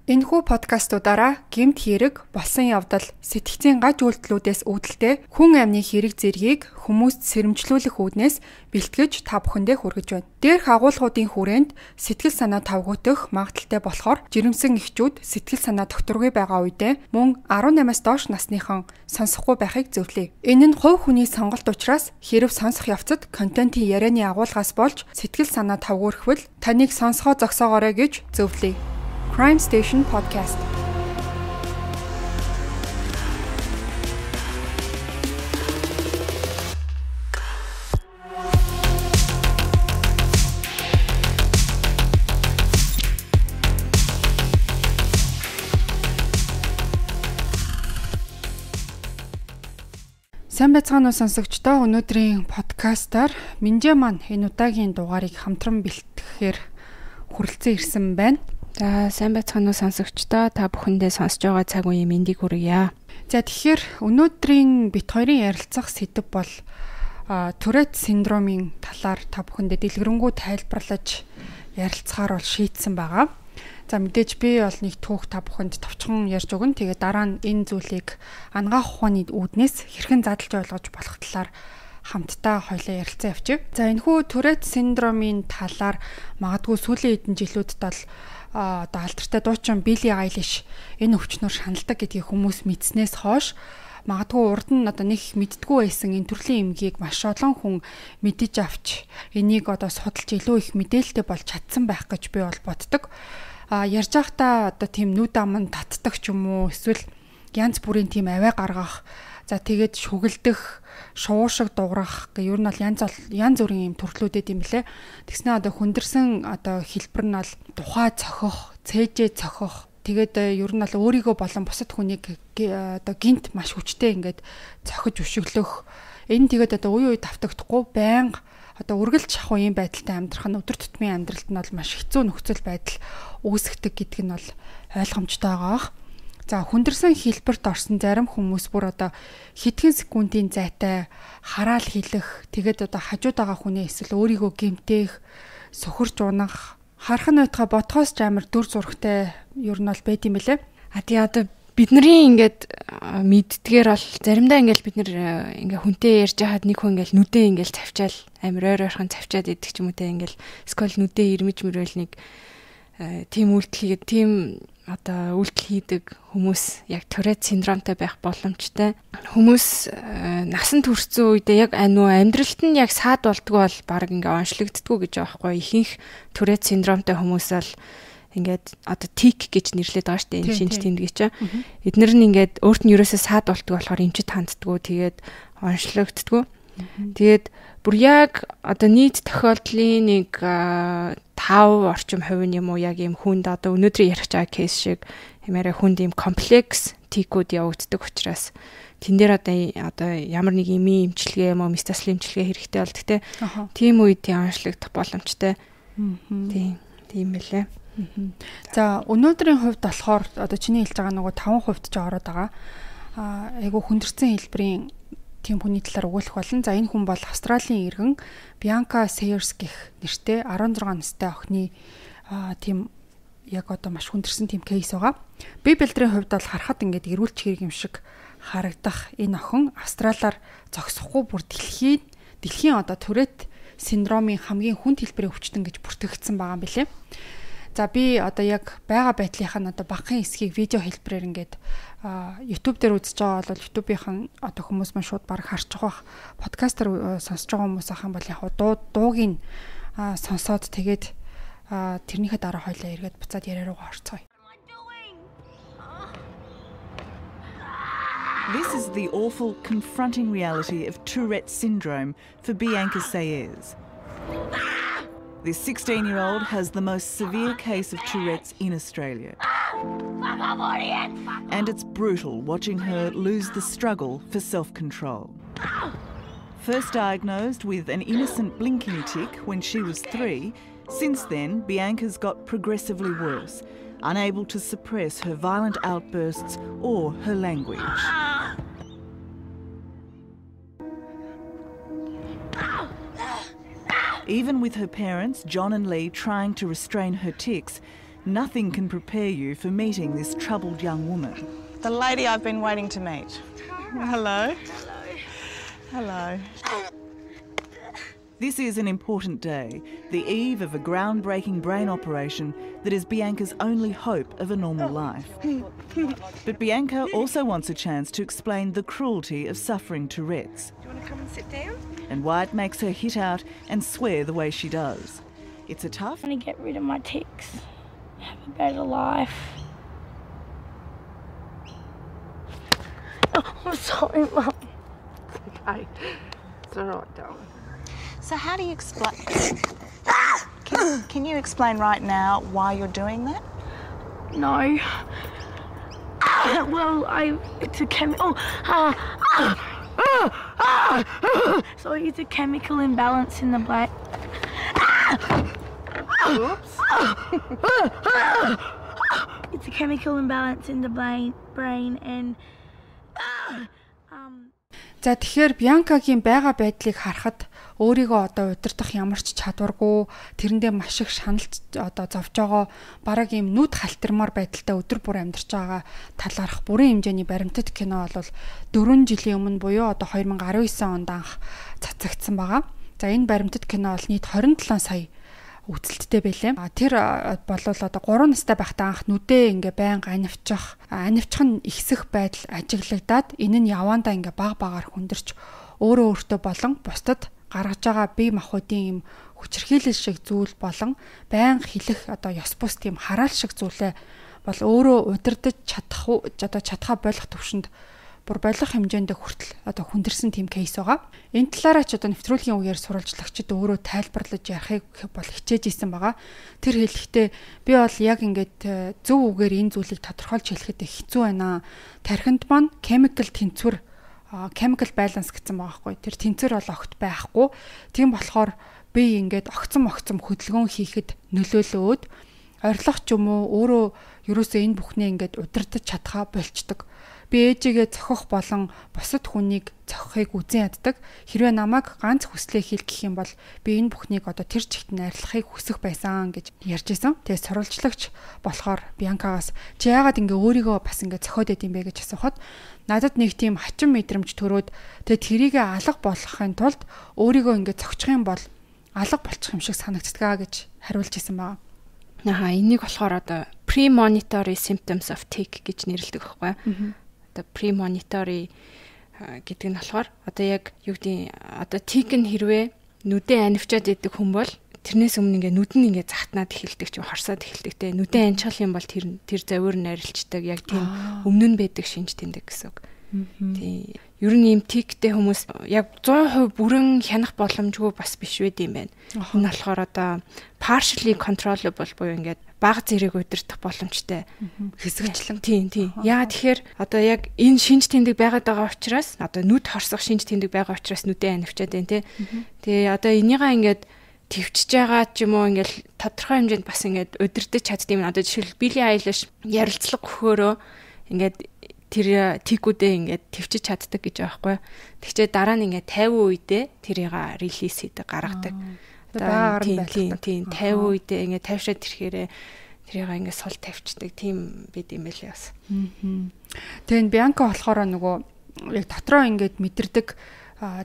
Энэхүү подкастуудаараа гэмт хэрэг, болсон явдал, сэтгцийн гаж үйлдэлүүдээс үүдэлтэй хүн амны хэрэг зэргийг хүмүүст сэрэмжлүүлэх үүднээс бэлтгэж та бүхэндээ хүргэж байна. Дээрх агуулгуудын хүрээнд сэтгэл санаа тавгуутах магадaltaй болохоор жирэмсэн эхчүүд сэтгэл санаа докторгүй байгаа үедээ мөн 18-аас доош насныхан сонсохгүй байхыг зөвлөе. Энэ нь хувь хүний сонголт учраас хэрв сонсох явцад контентын ярианы агуулгаас болж сэтгэл санаа тавгуурхвал таныг сонсгоо зогсоогоорой гэж зөвлөе. Crime Station Podcast. Сайн байцгаана уу сонсогчдоо. Өнөөдрийн подкастаар Минжээ маань энэ удаагийн дугаарыг хамтран бэлтгэхээр хүрэлцэн ирсэн байна. За сайн байцгаана уу сонсогчдоо, та бүхэндээ сонсож байгаа цаг үеийн мэндийг хүргье. За тэгэхээр өнөөдрийн бит хоёрын ярилцах сэдэв бол Tourette синдромын талаар та бүхэндээ дэлгэрэнгүй тайлбарлаж ярилцахаар бол шийдсэн байгаа. За мэдээж би бол нэг түүх та бүхэнд товчхон ярьж өгнө. Тэгээ дараа нь энэ зүйлийг ангаах ухааны үүднээс хэрхэн задлж ойлгож болох талаар хамтдаа хоёлаа ярилцсан явчих. За энэхүү Tourette синдромын талаар магадгүй сүүлийн хэдэн жилүүдэд бол одоо алдартай дуучин Билли Айлиш энэ өвчнөөр шаналдаг гэдгийг хүмүүс мэдснээс хойш магадгүй урд нь одоо нэг мэддэггүй байсан энэ төрлийн эмгийг маш олон хүн мэдэж авч энийг одоо судалж илүү их мэдээлэлтэй болж чадсан байх гэж би бол боддог. Ярьж байхдаа одоо тийм нүд аман татдаг ч юм уу эсвэл янз бүрийн тийм аваа гаргах, за тэгээд шүгэлдэх, шуушиг дуурах гэх ер нь бол янз бүрийн юм төрлүүдэд юм блэ. Тэгснэ одоо хүндэрсэн одоо хэлбэр нь бол тухай цохих, цээжээ цохих. Тэгээд ер нь бол өөрийгөө болон бусад хүнийг одоо гинт маш хүчтэй ингээд цохиж өшөглөх. Энэ тэгээд одоо үе давтагдахгүй байнга одоо үргэлж шахуу юм байдалтай амьдрах нь өдөр тутмын амьдралд нь бол маш хэцүү нөхцөл байдал үүсгдэг гэдэг нь бол ойлгомжтой байгаа. За хүндэрсэн хэлбэрт орсон зарим хүмүүс бүр одоо хэдхэн секундын зайтай хараал хэлэх, тэгээд одоо хажууд байгаа хүний эсвэл өөрийгөө гэмтэх, сөхөрч унах, харах нь байтугай ботхоос ч амар дүр зурагтай ер нь бол байд юм бэлээ. Тий одоо бидний ингээд мэддгээр бол заримдаа ингээд бид нэр ингээд хүнтэй ярьж хаад нэг хүн ингээд нүдээ ингээд цавчаал амар ойрхон цавчаад идэх ч юм уу те ингээд скол нүдээ ирмэж мөрөөл нэг тийм үйлдэл хийгээд тийм одоо үйлдэл хийдэг хүмүүс яг Tourette синдромтой байх боломжтой. Хүмүүс насанд хүрсэн үедээ яг амьдралд нь яг саад болдгоо бол баг ингээ онцлогддгүү гэж байгаа байхгүй. Ихэнх Tourette синдромтой хүмүүс бол ингээд одоо тик гэж нэрлэдэг байгаа шүү дээ. Энэ шинж тэмдэг чинь. Эднэр нь ингээд өөрт нь ерөөсөө саад болдгоо болохоор эмчит ханддгүү, тэгээд онцлогддгүү. Тэгээд бүр яг одоо нийт тохиолдлын нэг 5 орчим хувь юм уу яг юм хүнд одоо өнөөдөр ярих байгаа кейс шиг ямаараа хүнд юм комплекс тикүүд явагддаг учраас тэн дээр одоо ямар нэг эмийн эмчилгээ юм уу метастаслын эмчилгээ хэрэгтэй болдог те. Тийм үед онцлогдох боломжтой. Тийм байлээ. За өнөөдрийн хувьд болохоор одоо чиний хэлж байгаа нөгөө 5% ч ороод байгаа. Айгу хүндэрсэн хэлбэрийн тийм хүний талаар өгүүлэх болно. За энэ хүн бол Австралийн иргэн Bianca Sayers гэх нэртэй 16 настай охины тийм яг одоо маш хүндэрсэн тийм кейс байгаа. Би бэлдрийн хувьд бол харахад ингээд эрүүлч хэрэг юм шиг харагдах энэ охин Австралиар зогсохгүй бүр дэлхийн одоо Tourette синдромын хамгийн хүнд хэлбэрийн өвчтөн гэж бүртгэгдсэн байгаа юм билэ. За би одоо яг байгаа байдлынхаа одоо багахан хэсгийг видео хэлбэрээр ингээд YouTube дээр үзэж байгаа бол YouTube-ийн одоо хүмүүс маань шууд баг харж байгаа. Подкастер сонсож байгаа хүмүүс ахын бол яг дуугийн сонсоод тэгээд тэрнийхээ дараа хоёлаа эргээд буцаад яриа руугаа орцгоё. This is the awful, confronting reality of Tourette syndrome for Bianca Sayers. This 16-year-old has the most severe case of Tourette's in Australia. And it's brutal watching her lose the struggle for self-control. First diagnosed with an innocent blinking tic when she was 3, since then Bianca's got progressively worse, unable to suppress her violent outbursts or her language. Even with her parents, John and Lee, trying to restrain her tics, nothing can prepare you for meeting this troubled young woman. The lady I've been waiting to meet. Hello. Hello. This is an important day, the eve of a groundbreaking brain operation that is Bianca's only hope of a normal life. But Bianca also wants a chance to explain the cruelty of suffering Tourette's. Do you want to come and sit down? And why it makes her hit out and swear the way she does. It's a tough... I want to get rid of my tics, have a better life. Oh, I'm sorry, Mum. Okay. It's all right, darling. So how do you explain... Can you explain right now why you're doing that? No. Well, it's a chemical... So it's a chemical imbalance in the brain. Oops. It's a chemical imbalance in the brain and... За тэгэхээр Бианкагийн байгаа байдлыг харахад өөрийгөө одоо удирдах ямар ч чадваргүй, тэрэндээ маш их шаналж одоо зовж байгаа, бараг ийм нүд халтармаар байдалтай өдөр бүр амьдарч байгаа талаарх бүрэн хэмжээний баримтат кино бол 4 жилийн өмнө буюу одоо 2019 онд анх цацагдсан байгаа. За энэ баримтат кино бол нийт 27 сая үзэлттэй байлээ. Тэр бол одоо 3 настай байхдаа анх нүдээ ингээ байнга анивчих нь ихсэх байдал ажиглагдаад энэ нь явандаа ингээ баг багаар хүндэрч өөртөө болон бусдад гаргаж байгаа бие махбодын юм хүчирхийлэл шиг зүйл болон байнга хэлэх одоо ёс бус тийм хараал шиг зүйлээ бол өөрөө удирдах чадхаа болох төвшөнд бүр болох хэмжээнд хүртэл одоо хүндэрсэн тийм кейс байгаа. Энэ талаараа ч одоо нэвтрүүлгийн үеэр сурвалжлагчид өөрөө тайлбарлаж ярихыг бол хичээж исэн байгаа. Тэр хэлэхдээ би бол яг ингээд зөв үгээр энэ зүйлийг тодорхойлж хэлэхэд хэцүү байна. Тархинд маань chemical balance гэсэн байгаа хгүй. Тэр тэнцвэр бол огт байхгүй. Тийм болохоор би ингээд огцом хөдөлгөөн хийхэд нөлөөлөөд орилох ч юм уу өөрөө ерөөсөө энэ бүхнээ ингээд удирдах чадхаа болчдөг. Би ээжигээ зохих болон бусад хүнийг зохихыг үзэн яддаг. Хэрвээ намайг ганц хүслээ хийх гэх юм бол би энэ бүхнийг одоо тэр чигт найрлахыг хүсэх байсан гэж ярьж исэн. Тэгээ сурвалжлагч болохоор Бианкагаас чи яагаад ингээ өөрийгөө бас ингээ зохиод байд юм бэ гэж асуухад надад нэг тийм хачин мэдрэмж төрөөд тэгээ тэрийгэ алга болгохын тулд өөрийгөө ингээ зохичих юм бол алга болчих юм шиг санагддаг гэж хариулж исэн байна. Энийг болохоор одоо premonitory symptoms of tic гэж нэрлэдэг байхгүй. Одоо premonitory гэдэг нь болохоор одоо яг юу гэдэг одоо tic нь хэрвээ нүдээ анивчаад идэг хүн бол тэрнээс өмнө ингээ нүд нь ингээ захтнаад эхэлдэг ч хорсоод эхэлдэг те нүдээ аничхал юм бол тэр завиур нь арилждаг яг тийм өмнө нь байдаг шинж тэмдэг гэсэн үг. Тийм. Ер нь ийм тиктэй хүмүүс яг 100% бүрэн хянах боломжгүй бас биш байд юм байна. Энэ болохоор одоо partially controllable буюу ингээд бага зэрэг удирдах боломжтой хэсэгчлэн. Тийм. Яа тэгэхээр одоо яг энэ шинж тэмдэг байгаад байгаа учраас одоо нүд хорсох шинж тэмдэг байгаа учраас нүдээ анивчаад байна те. Тэгээ одоо энийгаа ингээд твчж байгаа ч юм уу ингээд тодорхой хэмжээнд бас ингээд удирдах чаддığım одоо жишээл Billie Eilish ярилцлага өгөхөөрөө ингээд тэр тикүүдээ ингээд твчиж чаддаг гэж байгаа байхгүй. Тэгчээ дараа нь ингээд 50 үедээ тэрийг релиз хийдэг гаргадаг. Тийм 50 үедээ ингээд тавьшаад ирэхээрээ тэрийг ингээд сул тавьчдаг тийм бид юм байлээ бас. Тэгээд Бианка болохоор нөгөө яг дотроо ингээд мэдэрдэг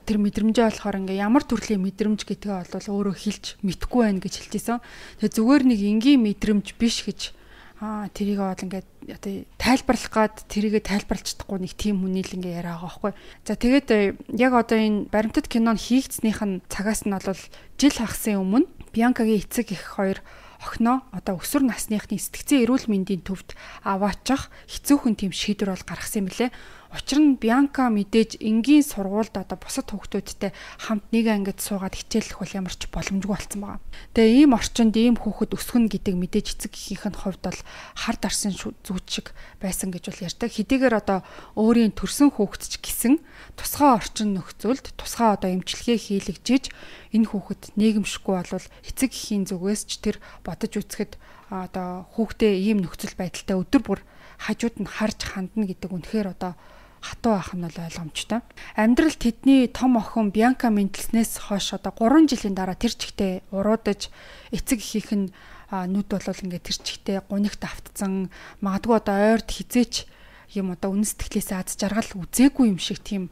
тэр мэдрэмжээ болохоор ингээ ямар төрлийн мэдрэмж гэдгээ бол өөрөө хэлж мэдэхгүй байх гэж хэлжсэн. Тэгээ зүгээр нэг энгийн мэдрэмж биш гэж тэрийг бол ингээд одоо тайлбарлах гад тэрийгэ тайлбарлаж чадахгүй нэг тийм хүний л ингээ яриа байгаа байхгүй. За тэгээд яг одоо энэ баримтат кинон хийгдснийх нь цагаас нь бол жил хагасын өмнө Бианкагийн эцэг эх хоёр охиноо одоо өсвөр насныхны сэтгцэн эрүүл мэндийн төвд аваачих хэцүүхэн тийм шийдвэр бол гаргасан юм лээ. Учир нь Бианка мэдээж энгийн сургуульд одоо бусад хүүхдүүдтэй хамт нэг ангид суугаад хичээллэх бол ямар ч боломжгүй болсон байгаа. Тэгээ ийм орчинд ийм хүүхэд өсгөн гэдэг мэдээж эцэг эхийнх нь хувьд бол хар дарсан зүйч шиг байсан гэж бол ярьдаг. Хэдийгээр одоо өөрийн төрсөн хүүхэд ч гэсэн тусгай орчин нөхцөлд тусгай одоо эмчилгээ хийлэгжиж энэ хүүхэд нийгэмшгүй болвол эцэг эхийн зүгээс ч тэр бодож үзэхэд одоо хүүхдээ ийм нөхцөл байдалтай өдөр бүр хажууд нь харж хандна гэдэг үнэхээр одоо хатуу байх нь бол ойлгомжтой. Амьдрал тэдний том охин Бианка мэдлснээс хойш одоо 3 жилийн дараа тэр чигтээ уруудаж эцэг эхийнх нь нүд бол ингээд тэр чигтээ гунигт автцсан магадгүй одоо ойрд хизээч юм одоо үнэн сэтгэлээсээ аз жаргал үзээгүй юм шиг тийм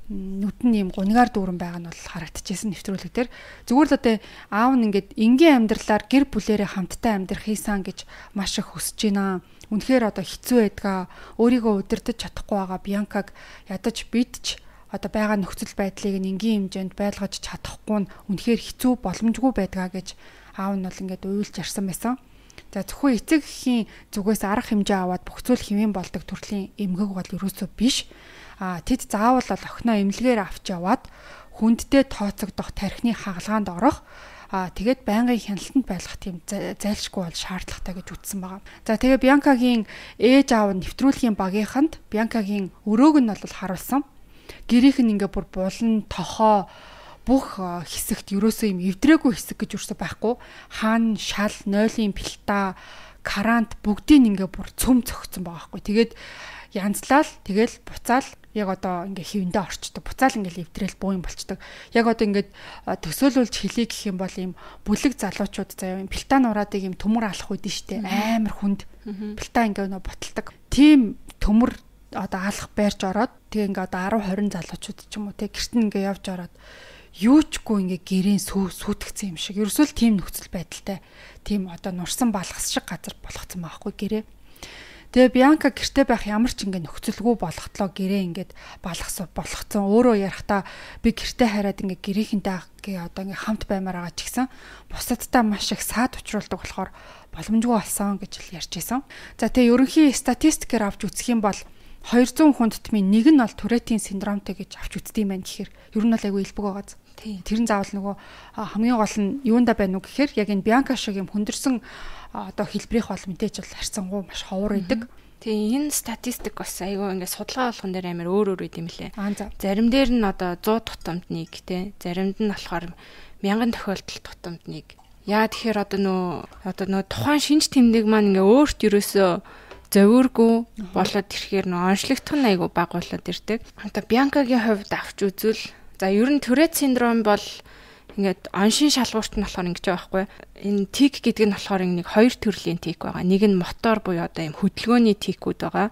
нүд нь юм гунигаар дүүрэн байгаа нь бол харагдчихсэн нэвтрүүлэг дээр. Зүгээр л одоо аав нь ингээд энгийн амьдралаар гэр бүлээрээ хамтдаа амьдрах хийсэн гэж маш их хүсэж байна. Үнэхээр одоо хэцүү байдгаа өөрийгөө удирдах чадахгүй байгаа Бьянкаг ядаж бидч одоо байгаа нөхцөл байдлыг энгийн хэмжээнд байлгаж чадахгүй нь үнэхээр хэцүү боломжгүй байдгаа гэж аав нь бол ингээд уйлж ярьсан байсан. За зөвхөн эцэг эхийн зүгээс арга хэмжээ аваад бүх зүйл хэвэн болдог төрлийн эмгэг бол ерөөсөө биш. Тэд заавал бол охиноо эмнэлгээр авч яваад хүндтэй тооцогдох тархины хагалгаанд орох тэгээд байнгын хяналтанд байлгах тийм зайлшгүй бол шаардлагатай гэж үздсэн байгаа. За тэгээ Бьянкагийн ээж аав нэвтрүүлгийн багийнханд Бьянкагийн өрөөг нь бол харуулсан. Гэрийнх нь ингээ бүр булан тохоо бүх хэсэгт ерөөсөө юм эвдрээгүй хэсэг гэж юусэн байхгүй. Хаан, шал, нойлын пилта, карант бүгдийг ингээ бүр цөм цогцсон байгаа байхгүй. Тэгээд янзлал тэгэл буцаал яг одоо ингээ хивэндээ орчдөг. Буцаал ингээл эвдрээл буу юм болчдөг. Яг одоо ингээд төсөөлүүлж хэлий гэх юм бол ийм бүлэг залуучууд заяа юм пилта нураадыг ийм төмөр алах үүдэн штэ амар хүнд. Пилта ингээ нөө боталдаг. Тийм төмөр одоо алах байрж ороод тэгээ ингээ одоо 10 20 залуучууд ч юм уу те гэрт нь ингээ явж ороод юучгүй ингээ гэрийн сүйтгэцсэн юм шиг. Ерөөсөө л тийм нөхцөл байдалтай. Тийм одоо нурсан балгас шиг газар болгоцсон байхгүй гэрээ. Тэгээ Бьянка гэртээ байх ямар ч ингээ нөхцөлгүй болготлоо гэрээ ингээд болгоцсон. Өөрөө ярахтаа би гэртээ хараад ингээ гэрийнхэнтэй одоо ингээ хамт баймаар байгаа ч гэсэн бусадтай маш их саад учруулдаг болохоор боломжгүй болсон гэж л ярьж байсан. За тэгээ ерөнхий статистикээр авч үзэх юм бол 200 хүн тутмын нэг нь бол Туретийн синдромтой гэж авч үздэг юм байна гэхээр ер нь бол айгүй илбэг байгааз. Тэр нь заавал нөгөө хамгийн гол нь юунда байна уу гэхээр яг энэ Бьянка шиг юм хүндэрсэн одоо хэлбэрийнх бол мэдээж бол харьцангуй маш ховор идэг. Тийм энэ статистик бас айгүй ингээд судалгаа болгон дээр амар өөр байд юм лээ. Зарим дээр нь одоо 100 тутамд нэг те заримд нь болохоор 1000 тохиолдолд тутамд нэг. Яа тэгэхээр одоо нөө тухайн шинж тэмдэг маань ингээ өөрт ерөөсөө зовиоргүй болоод ирэхээр нөө онцлогдох нь айгүй баг болоод ирдэг. Одоо Бьянкагийн хувьд авч үзвэл за ер нь Турет синдром бол ингээд оншин шалгуурт нь болохоор ингэж байгаа байхгүй. Энэ тик гэдэг нь болохоор нэг хоёр төрлийн тик байгаа. Нэг нь мотор буюу одоо юм хөдөлгөөний тикүүд байгаа.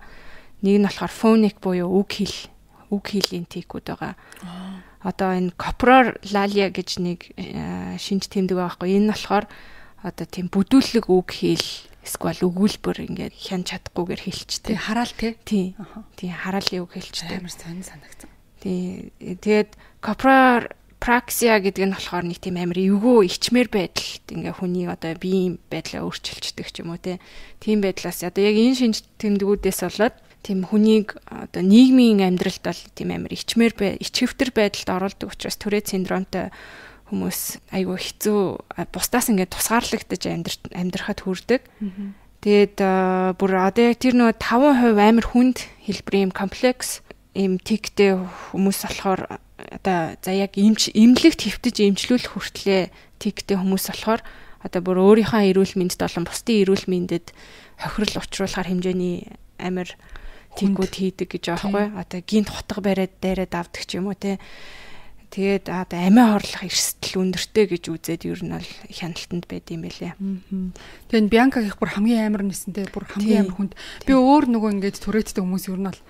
Нэг нь болохоор фоник буюу үг хийлийн тикүүд байгаа. Одоо энэ копролалия гэж нэг шинж тэмдэг байгаа байхгүй. Энэ болохоор одоо тийм бүдүүлэг үг хийл эсвэл өгүүлбэр ингээд хянаж чадахгүйгээр хэлчихдэг. Хараал тий. Тийм хараалын үг хэлчихдэг. Амар сонь санагдсан. Тэгээд копропраксия гэдэг нь болохоор нэг тийм амар эвгүй ичмэр байдалд ингээ хүний одоо биеийн байдлаа өөрчилждэг ч юм уу тийм байдлаас одоо яг энэ шинж тэмдгүүдээс болоод тийм хүнийг одоо нийгмийн амьдралд бол тийм амар ичхэвтер байдалд оруулдаг учраас Турет синдромтой хүмүүс айгүй хэцүү бусдаас ингээд тусгаарлагдаж амьдрахад хүрдэг. Тэгээд бүр одоо тэр нөгөө 5% амар хүнд хэлбэрийн комплекс им тиктэй хүмүүс болохоор одоо за яг эмнэлэгт хэвтэж эмчлүүлэх хүртлээр тиктэй хүмүүс болохоор одоо бүр өөрийнхөө эрүүл мэндэд болон бусдын эрүүл мэндэд хохирол учруулахар хэмжээний амар тикүүд хийдэг гэж байгаа байхгүй. Одоо гинт хутга дайраад авдаг ч юм уу те. Тэгээд одоо амиа хорлох эрсдэл өндөртэй гэж үзээд ер нь бол хяналтанд байд юм байлээ. Тэгээд Бьянка гэх бүр хамгийн амар нисэнтэй бүр хамгийн амар хүнд. Би өөр нөгөө ингээд Туреттэй хүмүүс ер нь бол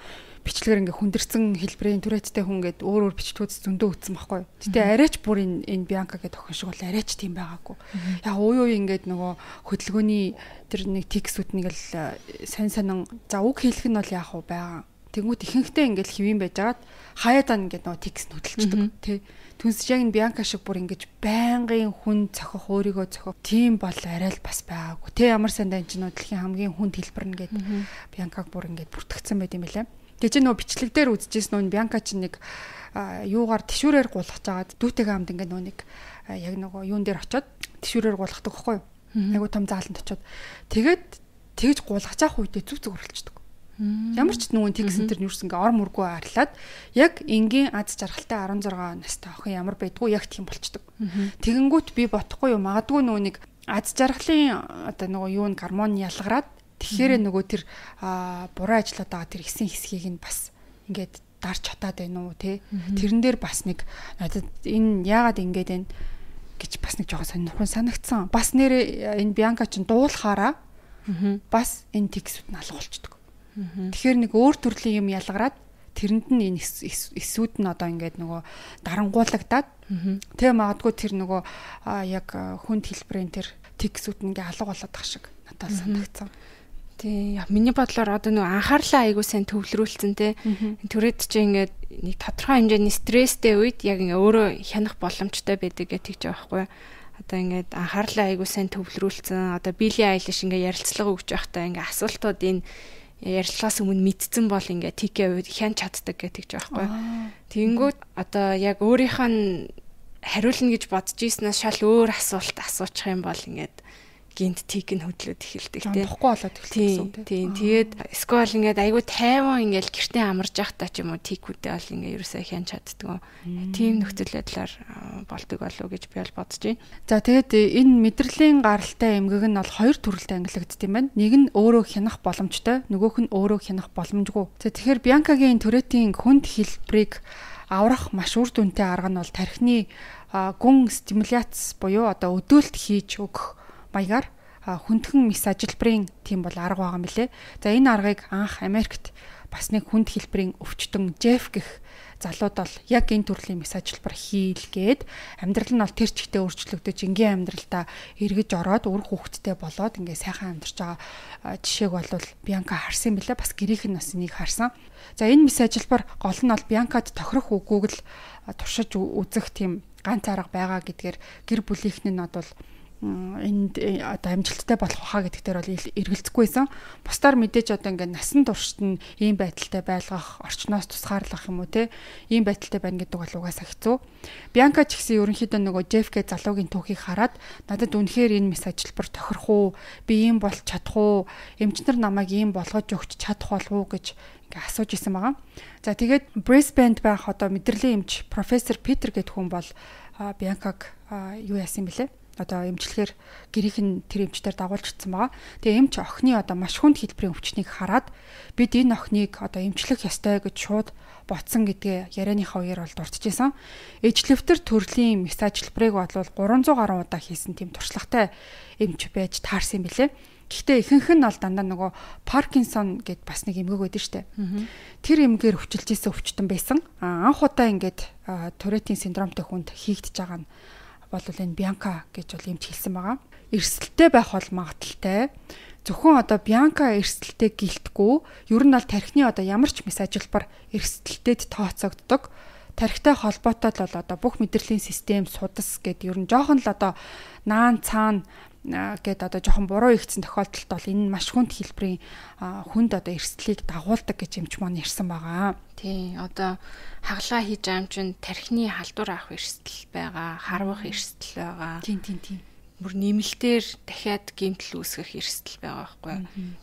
бичлэгээр ингээ хүндэрсэн хэлбэрийн Туреттэй хүн ингээд өөр бичлэгүүд зөндөө үтсэн байхгүй. Гэтэ арайч бүр энэ Бьянка гэдэг охин шиг бол арайч тийм байгаагүй. Яг уу ингээд нөгөө хөдөлгөөний тэр нэг текстүүд нэг л сайн санан за үг хэлэх нь бол яг уу байгаа. Тэнгүүт ихэнхдээ ингээд хэвэн байжгаад хаяадаа ингээд нөгөө текст хөдөлчихдөг тий. Түнс яг энэ Бьянка шиг бүр ингээд байнгын хүн цохих өөрийгөө цохих тийм бол арай л бас байгаагүй. Тэ ямар сандаа энэ ч нөө дэлхийн хамгийн хүнд хэлбэр нэгээд Бьянкаг бүр ингээд бүртгэгдсэн байт юм байлаа. Тэгээ чи нөгөө бичлэг дээр үзчихсэн нөө Бьянка чи нэг юугаар тишүүрээр гулгаж агаад дүүтэйгээ хамт ингээд нөө нэг яг нөгөө юун дээр очиод тишүүрээр гулгадаг байхгүй юу? Айгу том зааланд очиод тэгээд тэгж гулгаж авах үедээ зүг болчихдог. Ямар ч нөгөө текст энэ юу гэсэн ингээ ор мөргөө арилаад яг энгийн аз жаргалтай 16 настай охин ямар байдгүй яг тийм болчдөг. Тэгэнгүүт би бодохгүй юу магадгүй нөгөө нэг аз жаргалын одоо нөгөө юу н гормон ялгараад тэгэхээр нөгөө тэр буруу ажиллаад байгаа тэр хэсэг хэсгийг нь бас ингээд дарж хатаад байна уу те. Тэрэн дээр бас нэг надад энэ яагаад ингээд байна гэж бас нэг жоохон сонирхол санагдсан. Бас нэр энэ Бианка чинь дуулахаараа бас энэ тиксүүд нь алга болчихдог. Тэгэхээр нэг өөр төрлийн юм ялгараад тэрэнд нь энэ эсүүд нь одоо ингээд нөгөө дарангуулагдаад тэгээ магадгүй тэр нөгөө яг хүнд хэлбэрийн тэр тиксүүд нь ингээд алга болоод тах шиг надад санагдсан. Тий, миний бодлоор одоо нөгөө анхаарлаа айгуу сайн төвлөрүүлсэн те. Түрээд чи ингээд нэг тодорхой хэмжээний стресстэй үед яг ингээ өөрөө хянах боломжтой байдаг гэж тэгж байгаа байхгүй. Одоо ингээд анхаарлаа айгуу сайн төвлөрүүлсэн. Одоо Билли Айлиш ингээ ярилцлага өгч байхдаа ингээ асуултууд энэ ярилцлагаас өмнө мэдсэн бол ингээ тикээ үед хянч чаддаг гэж тэгж байгаа байхгүй. Тэгэнгүүт одоо яг өөрийнх нь хариулна гэж бодож ийснээс шал өөр асуулт асуучих юм бол ингээд гинт тик нь хөдлөөд эхэлдэг тийм. Бохгүй болоод эхэлдэг. Тийм. Тэгээд скол ингээд айгүй тайван ингээд гэртээ амарж явахдаа ч юм уу тикүүдээ бол ингээд ерөөсөө хянч чаддгүй. Тийм нөхцөл байдлаар болдог болов гэж би бол бодож байна. За тэгээд энэ мэдрэлийн гаралтай эмгэг нь бол хоёр төрөлтэй ангилагддаг юм байна. Нэг нь өөрөө хянах боломжтой, нөгөөх нь өөрөө хянах боломжгүй. За тэгэхээр Бианкагийн Туретийн хүнд хэлбэрийг аврах маш үр дүнтэй арга нь бол тархины гүн стимуляц буюу одоо өдөөлт хийж өгөх маягаар хүндхэн мис ажилбарын тийм бол арга байгаа юм билэ. За энэ аргыг анх Америкт бас нэг хүнд хэлбэрийн өвчтөн Жеф гэх залууд бол яг энэ төрлийн мис ажилбар хийлгээд амьдрал нь бол тэр чигтээ өөрчлөгдөж ингийн амьдралдаа эргэж ороод үр хүүхэдтэй болоод ингээ сайхан амьдарч байгаа жишээг бол Бианка харсан билээ. Бас гэрийнх нь бас энийг харсан. За энэ мис ажилбар гол нь бол Бианкад тохирох үгүйг л туршиж үзэх тийм ганц арга байгаа гэдгээр гэр бүлийнх нь бол энд одоо амжилттай болох хаа гэдэгтэр бол эргэлзэхгүйсэн. Бусдаар мэдээж одоо ингээд насан туршид нь ийм байдалтай байлгах, орчноос тусгаарлах юм уу те ийм байдалтай байна гэдэг бол угаасаа хэцүү. Бианка ч гэсэн ерөнхийдөө нөгөө Жеф гэ залуугийн түүхийг хараад надад үнэхээр энэ мис ажилбар тохирох уу? Би ийм болж чадах уу? Эмчнэр намайг ийм болгож өгч чадах болов уу гэж ингээ асууж исэн байгаа. За тэгээд Brisbane байх одоо мэдрэлийн эмч профессор Питер гэдэг хүн бол Бианкаг юу яасан бэлээ? Одоо эмчлэхээр гэрийнх нь тэр эмчтэр дагуулж ирсэн байгаа. Тэгээ эмч охины одоо маш хүнд хэлбэрийн өвчнийг хараад бид энэ охиныг одоо эмчлэх ёстой гэж шууд ботсон гэдгээ ярианыхаа үеэр бол дурдчихсан. Эжлэвтэр төрлийн мис ажилбарыг бол 300 гаруй удаа хийсэн тийм туршлагатай эмч байж таарсан юм билэ. Гэхдээ ихэнх нь бол дандаа нөгөө Паркинсон гэд бас нэг эмгэг байдаг штэ. Тэр эмгээр өвчлөж исэн өвчтөн байсан. Анх удаа ингээд Туретийн синдромтой хүнд хийгдэж байгаа нь бол энэ Бианка гэж бол эмч хэлсэн байгаа. Эрсдэлтэй байх бол магадaltaй. Зөвхөн одоо Бианка эрсдэлтэй гэлтгүй, ер нь бол тархины одоо ямар ч мис ажилбар эрсдэлтэд тооцогддог. Тархитай холбоотой л бол одоо бүх мэдрэлийн систем судас гэд ер нь жоохон л одоо наан цаана гэд одоо жоохон буруу ихсэн тохиолдолд бол энэ маш хүнд хэлбэрийн хүнд одоо эрсдлийг дагуулдаг гэж эмч маань ярьсан байгаа. Тий, одоо хаглаа хийж байгаа юм чинь тархины халдвар авах эрсдэл байгаа, харвах эрсдэл байгаа. Тийм. Бүр нэмэлтээр дахиад гэмтэл үүсгэх эрсдэл байгаа байхгүй.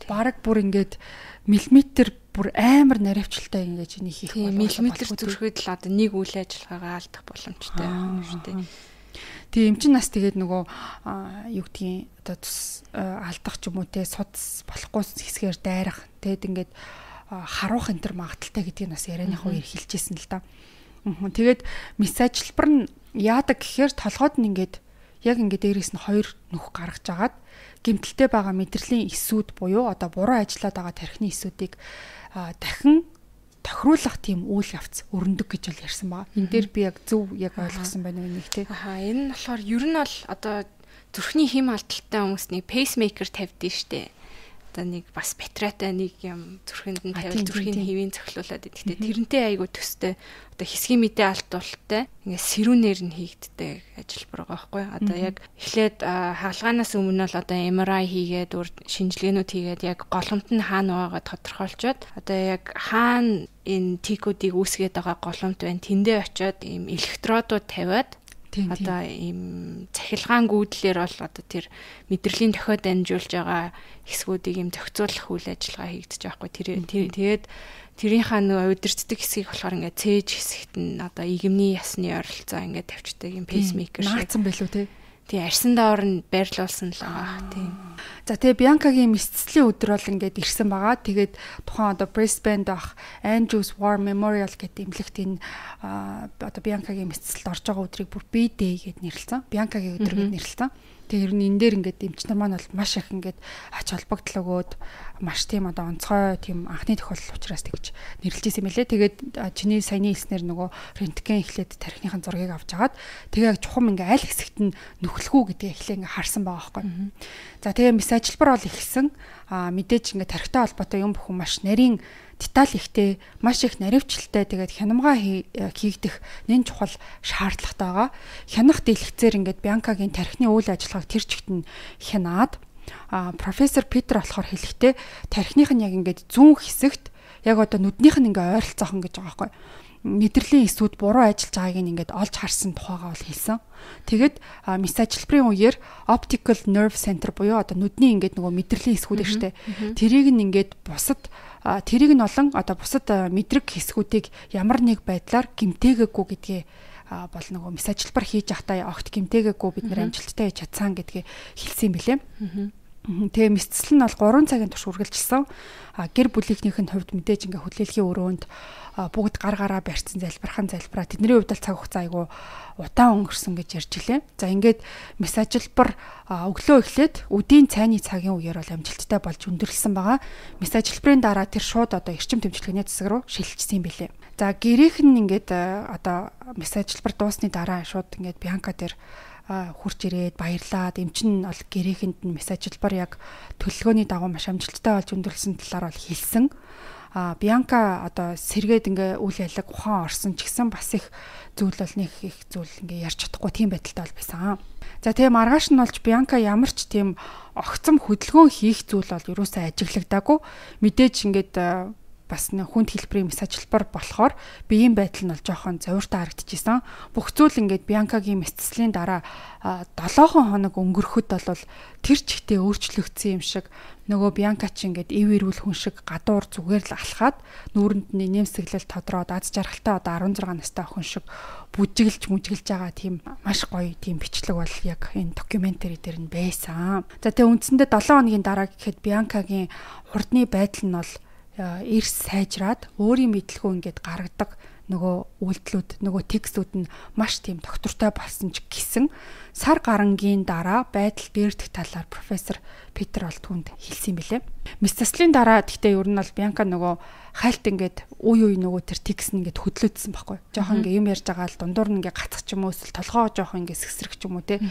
Бараг бүр ингээд миллиметр бүр амар наривчлалтай ингэж энийг хийх болох. Миллиметр зүрхэд л одоо нэг үйл ажиллагаагаа алдах боломжтой юм шүү дээ. Тэгээ эмчин нас тэгээд нөгөө юу гэдгийг одоо алдах ч юм уу те судас болохгүй хэсгээр дайрах тэгээд ингээд харуулах энэ төр магадaltaй гэдгийг бас ярианыхаа үеэр хэлжсэн л да. Тэгээд мис ажилбар нь яадаг гэхээр толгойд нь ингээд яг ингээд дээрээс нь хоёр нүх гаргаж агаад гэмтэлтэй байгаа мэдрэлийн эсүүд буюу одоо буруу ажиллаад байгаа тархины эсүүдийг дахин тохируулах тийм үйл явц өрнөдөг гэж бол ярьсан байгаа. Энэ дээр би яг зөв яг ойлгосон байна уу нэг те. Энэ нь болохоор ер нь бол одоо зүрхний хэм алдалтай хүмүүс нэг пейсмейкер тавьдээ штэ. Одоо нэг бас батарейтай нэг юм зүрхэнд нь тавил зүрхийн хэвийн цохилуулаад идэхтэй. Тэрнтэй айгу төстэй одоо хэсгийн мэдээ алдуулттай ингээд сэрүүнээр нь хийгддэг ажиллабар байгаа байхгүй. Одоо яг эхлээд хаалганаас өмнө л одоо MRI хийгээд шинжилгээнүүд хийгээд яг голомт нь хаана байгааг тодорхойлцоод одоо яг хаана энэ тикүүдийг үүсгээд байгаа голомт байна. Тэндээ очиод ийм электродууд тавиад одоо ийм цахилгаан гүйдлэр бол одоо тэр мэдрэлийн дохиод дамжуулж байгаа хэсгүүдийг ийм зохицуулах үйл ажиллагаа хийгдэж байгаа байхгүй. Тэгээд тэрийнхаа нөгөө удирддаг хэсгийг болохоор ингээд цээж хэсэгт нь одоо игэмний ясны ойролцоо ингээд тавьчдаг юм пейсмейкер шиг. Наацсан байлуу те. тий арьсан даавар нь байрлуулсан л байгаа тий. За тэгээ Бианкагийн мэдцэлийн өдөр бол ингээд ирсэн байгаа. Тэгээд тухайн одоо Brisbane дах Andrews War Memorial гэдэг эмнэлэгт энэ одоо Бианкагийн мэдцэлд орж байгаа өдрийг бүр B-Day гэд нэрлэсэн. Бианкагийн өдөр гэд нэрлэсэн. Тэгээ ер нь энэ дээр ингээд эмч нар маань бол маш их ингээд ач холбогдол өгөөд маш тийм одоо онцгой тийм анхны тохиолдол учраас тэгж нэрлэж ирсэн мэлээ. Тэгээд чиний саяны хэлснээр нөгөө рентген эхлээд тархиныхын зургийг авч агаад тэгээ яг чухам ингээ аль хэсэгт нь нөхлөх үү гэдгийг эхлээ ингээ харсан байгаа байхгүй. За тэгээ мис ажилбар бол эхэлсэн. Мэдээж ингээ тархитай холбоотой юм бүхэн маш нарийн деталь ихтэй, маш их наривчлалтай тэгээд хянамгаа хийгдэх нэн чухал шаардлагатай байгаа. Хянах дэлгэцээр ингээд Бианкагийн тархины үйл ажиллагааг тэр чигт нь хянаад профессор Питер болохоор хэлэхдээ тархиных нь яг ингээд зүүн хэсэгт яг одоо нүднийх нь ингээ ойролцоохон гэж байгаа байхгүй. Мэдрэлийн эсүүд буруу ажиллаж байгааг нь ингээд олж харсан тухайгаа бол хэлсэн. Тэгэд мис ажилбарын үеэр optical nerve center буюу одоо нүдний ингээд нөгөө мэдрэлийн эсгүүд штэ. Тэрийг нь ингээд бусад тэрийг нь олон одоо бусад мэдрэг хэсгүүдийг ямар нэг байдлаар гэмтээгээгүй гэдгээ бол нөгөө мис ажилбар хийж явахдаа огт гэмтээгээгүй бид нэр амжилттай хийж чадсан гэдгээ хэлсэн юм билээ. Тэгээ мэдцэл нь бол 3 цагийн турш үргэлжилсэн. Гэр бүлийнхнийх нь хувьд мэдээж ингээ хөдлөлийн өрөөнд бүгд гар гараа барьсан залбирхан залбираа тэдний хувьд л цаг хугацаа айгу удаан өнгөрсөн гэж ярьж илээ. За ингээд мис ажилбар өглөө эхлээд үдийн цайны цагийн үеэр бол амжилттай болж өндөрлсөн байгаа. Мис ажилбарын дараа тэр шууд одоо эрчим тэмцэлгээний засаг руу шилжчихсэн юм билээ. За гэрийнх нь ингээд одоо мис ажилбар дуусны дараа шууд ингээд Бианка дээр хурж ирээд баярлаад эмч нь бол гэрээхэнд нь мис ажилбар яг төлөвлөгөөний дагуу маш амжилттай болж өндөрлсөн талаар бол хэлсэн. Бианка одоо сэргээд ингээ үйл ялэг ухаан орсон ч гэсэн бас их зүйл бол нэг их зүйл ингээ ярьж чадахгүй тийм байдалтай бол байсан. За тэгээ маргааш нь болж Бианка ямар ч тийм огцом хөдөлгөөн хийх зүйл бол юусаа ажиглагдаагүй. Мэдээж ингээд бас хүнд хэлбэрийн мис ажилбар болохоор биеийн байдал нь бол жоохон зовиртой харагдчихсан. Бүх зүйл ингээд Бианкагийн мэдцлийн дараа 7 хоног өнгөрөхөд бол тэр чигтээ өөрчлөгдсөн юм шиг нөгөө Бианка ч ингээд ив ирүүл хүн шиг гадуур зүгээр л алхаад нүүрэнд нь нэмсэглэл тодроод аз жаргалтай одоо 16 настай охин шиг бүжиглж байгаа тийм маш гоё тийм бичлэг бол яг энэ докюментари дээр нь байсан. За тэгээ үндсэндээ 7 хоногийн дараа гэхэд Бианкагийн хурдны байдал нь бол эрс сайжраад өөрийн мэдлэгөө ингээд гаргадаг нөгөө үйлдэлүүд нөгөө текстүүд нь маш тийм доктортой болсон ч гэсэн сар гарангийн дараа байдал дээрдэх талаар профессор Питер бол түнд хэлсэн юм билээ. Мис заслын дараа гэхдээ ер нь бол Бианка нөгөө хайлт ингээд үе нөгөө тэр текст нь ингээд хөдлөөдсөн байхгүй. Жохон ингээд юм ярьж байгаа л дундуур нь ингээд гацх ч юм уу эсвэл толгоо жохон ингээд сэсрэх ч юм уу те.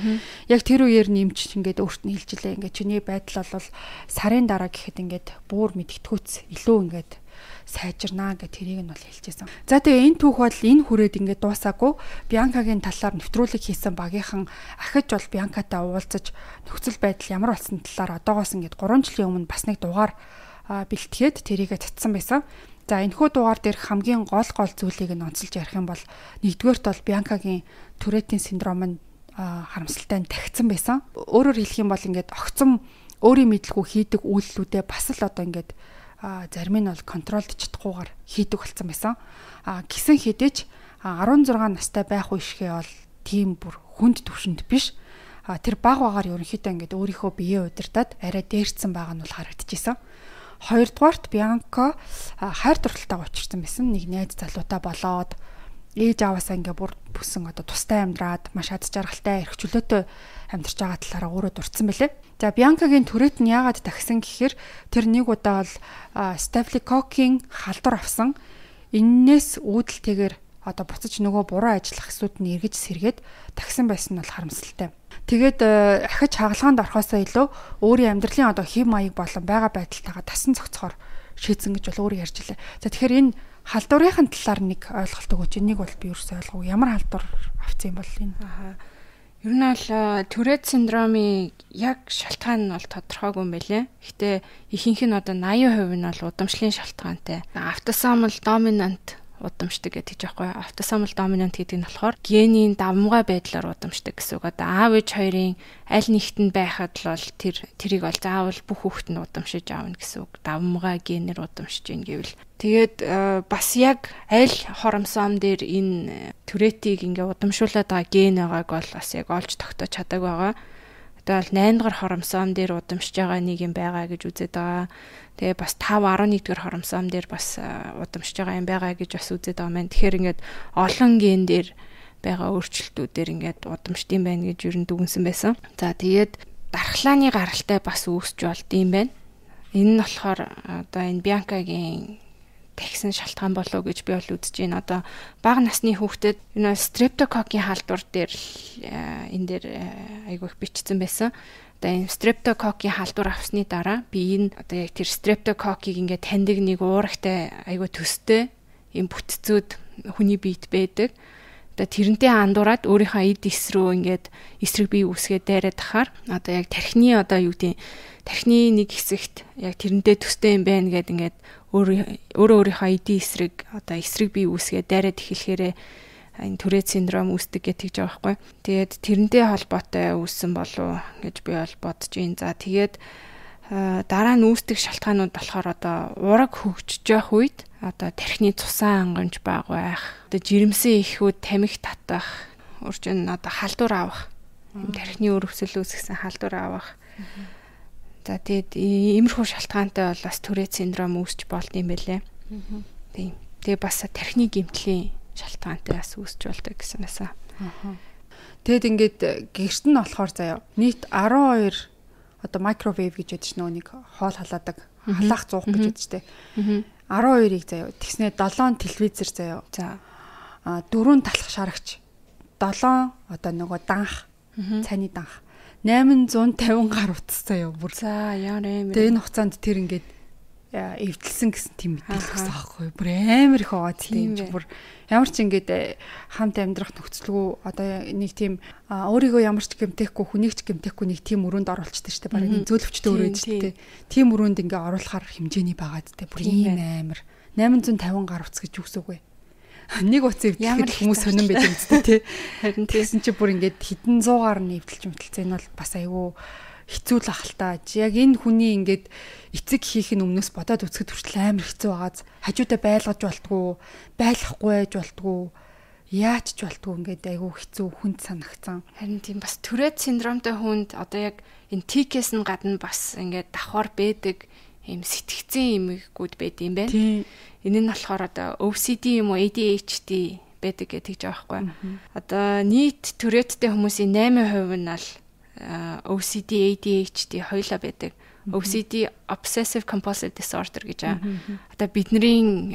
Яг тэр үеэр нэмч ингээд өөрт нь хэлж илээ. Ингээд чиний байдал бол сарын дараа гэхэд ингээд бүр мэдгэдэггүйц илүү ингээд сайжирнаа гэх тэрийг нь бол хэлчихсэн. За тэгээ энэ түүх бол энэ хүрээд ингээд дуусаагүй Бианкагийн талаар нэвтрүүлэг хийсэн багийнхан ахиж бол Бианкатай уулзаж нөхцөл байдал ямар болсон талаар одоогоос ингээд 3 жилийн өмнө бас нэг дугаар бэлтгээд тэрийгэ татсан байсан. За энэхүү дугаар дээр хамгийн гол зүйлийг нь онцолж ярих юм бол нэгдүгээрт бол Бианкагийн Туретийн синдром нь харамсалтай нь тагцсан байсан. Өөрөөр хэлэх юм бол ингээд огцом өөрийн мэдлгүй хийдэг үйлдэлүүдээ бас л одоо ингээд зарим нь бол контролд чадахгүйгээр хийдэг болсон байсан. Гисэн хэдэж 16 настай байх үешгээ бол тийм бүр хүнд төвшөнд биш. Тэр баг багаар ерөнхийдөө ингээд өөрийнхөө биеэ удирдаад арай дээрцсэн байгаа нь бол харагдчихсан. Хоёрдугаарт Бианка хайр дурлалтайгаа учирсан байсан. Нэг найз залуутай болоод ээж аваасаа ингээ бүр бүсэн одоо тустай амьдраад маш аз жаргалтай эрх чөлөөтэй амьдарч байгаа талаараа өөрөө дурдсан байлээ. За Бианкагийн түрээт нь яагаад тагсан гэхээр тэр нэг удаа бол стафилококкийн халдвар авсан. Иннээс үүдэлтэйгээр одоо буцаж нөгөө буруу ажиллах хэсүүд нь эргэж сэргээд тагсан байсан нь бол харамсалтай. Тэгээд ахиж хагалгаанд орохоосоо илүү өөрийн амьдралын одоо хэв маяг болон байгаа байдалтайгаа тасан зохицохоор шийдсэн гэж бол өөрөө ярьж илээ. За тэгэхээр энэ халдварынхын талаар нэг ойлголт өгөөч. Энийг бол би ерөөсөй ойлгоогүй. Ямар халдвар авсан юм бол энэ? Ер нь бол Tourette синдромын яг шалтгаан нь бол тодорхойгүй юм байлээ. Гэхдээ ихэнх нь одоо 80% нь бол удамшлын шалтгаантай. Автосомал доминант удамшдаг гэдэг жоохгүй автосомал доминант гэдэг нь болохоор генийн давмгай байдлаар удамшдаг гэсэн үг. Одоо аав ээж хоёрын аль нэгтэнд байхад л бол тэрийг бол заавал бүх хүүхэд нь удамшиж аавна гэсэн үг. Давмгай генээр удамшиж ийн гэвэл тэгээд бас яг аль хоромсоом дээр энэ Туретийг ингээ удамшуулаад байгаа ген байгааг бол бас яг олж тогтоож чадаагүй байгаа. Одоо бол 8 дугаар хоромсоом дээр удамшиж байгаа нэг юм байгаа гэж үзээд байгаа. Тэгээ бас 5 11 дугаар хоромсоом дээр бас удамшиж байгаа юм байгаа гэж бас үзээд байгаа маань. Тэгэхээр ингээд олон ген дээр байгаа өөрчлөлтүүдээр ингээд удамшд юм байна гэж ер нь дүгнсэн байсан. За тэгээд дархлааны гаралтай бас үүсч болд юм байна. Энэ нь болохоор одоо энэ Бианкагийн тэгсэн шалтгаан болов гэж би бол үзэж байна. Одоо бага насны хүүхдэд энэ стрептококкийн халдвар дээр энэ дээр айгүй их бичсэн байсан. Одоо энэ стрептококкийн халдвар авсны дараа би энэ одоо яг тэр стрептококкийг ингээд таньдаг нэг уурагтай айгүй төстэй юм бүтцүүд хүний биед байдаг. Одоо тэрнтэй андуураад өөрийнхөө эд эс рүү ингээд эсрэг бие үүсгээд дайраад тахаар одоо яг тархины одоо юу гэдэг тархины нэг хэсэгт яг тэрнтэй төстэй юм байна гэд ингээд өөрийнхөө эдийн эсрэг одоо эсрэг бие үүсгээд дайраад эхлэхээр энэ Турет синдром үүсдэг гэж байгаа байхгүй. Тэгээд тэрнтэй холбоотой үүссэн болов гэж би бол бодож байна. За тэгээд дараа нь үүсдэг шалтгаанууд болохоор одоо ураг хөгжиж явах үед одоо тархины цусан хангамж бага байх, одоо жирэмсэн ихүүд тамхи татах, урьдчилан одоо халдвар авах, тархины өрөвсөл үүсгэсэн халдвар авах. За тэгээд иймэрхүү шалтгаантай бол бас Турет синдром үүсч болд юм байлээ. Тийм. Тэгээ бас тархины гэмтлийн шалтгаантай бас үүсч болдог гэсэн байсан. Тэгэд ингээд гэрт нь болохоор заяа нийт 12 одоо микровейв гэж ядчих нэг хоол халаадаг халаах зуух гэж ядчих тэ. 12-ыг заяа тэгснээ 7 телевизэр заяа. За 4 талах шарагч 7 одоо нөгөө данх цайны данх 850 гар утас заяа бүр. За яа нэмэр. Тэгээ энэ хугацаанд тэр ингээд эвдэлсэн гэсэн тийм мэдээлэл өгсөн аахгүй. Бүр амар их аваад тийм бүр ямар ч ингээд хамт амьдрах нөхцөлгүй одоо нэг тийм өөрийгөө ямар ч гэмтэхгүй хүнийг ч гэмтэхгүй нэг тийм өрөөнд оруулчихдаг шүү дээ. Бараг зөөлөвчтэй өрөөнд шүү дээ. Тийм өрөөнд ингээд оруулахаар хэмжээний байгаад дээ. Бүр ийм амар 850 гар утас гэж үгсэв үгүй. Нэг утас эвдэлэхэд хүмүүс сонирн байдаг үстэй тий. Харин тэгсэн чи бүр ингээд хэдэн 100-аар нь эвдэлж мэтэлцээ энэ бол бас айгүй хэцүү л ахaltaа. Яг энэ хүний ингээд эцэг хийх нь өмнөөс бодоод үзэхэд хүртэл амар хэцүү байгааз хажуудаа байлгаж болтгоо, байлахгүй байж болтгоо, яаж ч болтгоо ингээд айгүй хэцүү хүнд санагцсан. Харин тийм бас Турет синдромтой хүнд одоо яг энэ тикээс нь гадна бас ингээд давхар байдаг юм сэтгцэн юмгүүд байд юм байна. Энэ нь болохоор одоо OCD юм уу ADHD байдаг гэж байгаа байхгүй. Одоо нийт Туреттэй хүмүүсийн 8% нь л OCD, ADHD хоёулаа байдаг. OCD Obsessive Compulsive Disorder гэж байгаа. Одоо бидний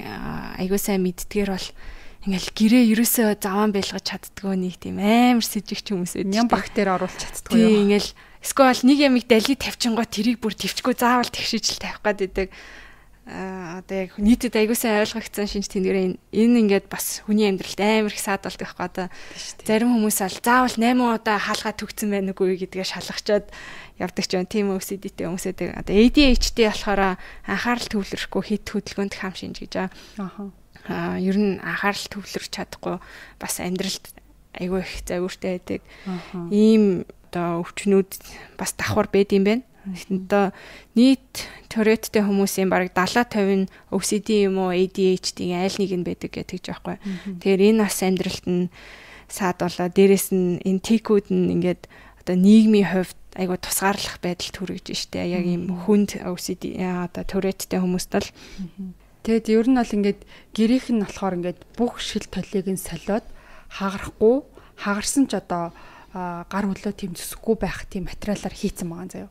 айгуу сайн мэддгээр бол ингээл гэрээ ерөөсөө заван байлгаж чаддгүй нэг тийм амар сэжигч хүмүүс байдаг. Ням бактери оруулах чаддгүй юу? Ингээл эсвэл нэг ямиг дали тавьчингоо тэрийг бүр твчгүй заавал тэгшиж л тавих гээд байдаг. Одоо яг нийтэд аягуулсан ойлгогдсон шинж тэмдгэрээ энэ ингээд бас хүний амьдралд амар их саад болдог байхгүй одоо зарим хүмүүс аль заавал 8 удаа хаалгаа төгцсөн байх нүггүй гэдгээ шалгачаад явдаг ч юм тийм OCD-тэй хүмүүсэд одоо ADHD болохоор анхаарал төвлөрөхгүй хит хөдөлгөөнд хам шинж гэж аа ер нь анхаарал төвлөрч чадахгүй бас амьдралд айгүй их завиуртай байдаг ийм одоо өвчнүүд бас давхар байд юм байна. Одоо нийт Туреттэй хүмүүсийн бараг 70-50 нь OCD юм уу ADHD-ийн айл нэг нь байдаг гэж байгаа байхгүй. Тэгэхээр энэ бас амьдралд нь саад болоо. Дээрээс нь энэ тикүүд нь ингээд одоо нийгмийн хувьд айгуу тусгаарлах байдал төрөж штэ. Яг ийм хүнд OCD одоо Туреттэй хүмүүст л тэгэд ер нь бол ингээд гэрийнх нь болохоор ингээд бүх шил толийг нь солиод хагарахгүй хагарсан ч одоо гар хөлөө тийм зүсэхгүй байх тийм материалаар хийцэн байгаа заяа.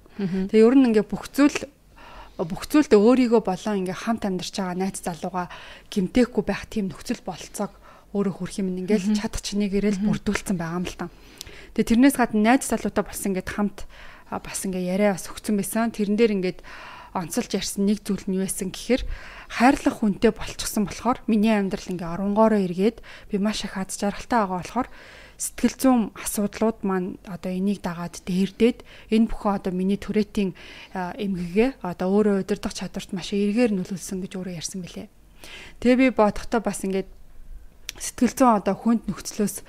Тэгээ ер нь ингээ бүх зүйлд өөрийгөө болон ингээ хамт амьдарч байгаа найз залууга гимтээхгүй байх тийм нөхцөл болцоог өөрөө хүрх юм ингээл чадах чинийг ирээл бүрдүүлсэн байгаа юм л та. Тэгээ тэрнээс гадна найз залуутай болсон ингээд хамт бас ингээ яриа бас өгсөн байсан. Тэрэн дээр ингээд онцолж ярьсан нэг зүйл нь юу байсан гэхээр хайрлах хүнтэй болчихсон болохоор миний амьдрал ингээ оронгоороо эргээд би маш их аз жаргалтай байгаа болохоор сэтгэл зүйн асуудлууд маань одоо энийг дагаад дээрдээд энэ бүхэн одоо миний Туретийн эмгэгээ одоо өөрөө удирдах чадварт маш эргээр нөлөөлсөн гэж өөрөө ярьсан билээ. Тэгээ би бодохдоо бас ингээд сэтгэл зүйн одоо хүнд нөхцлөөс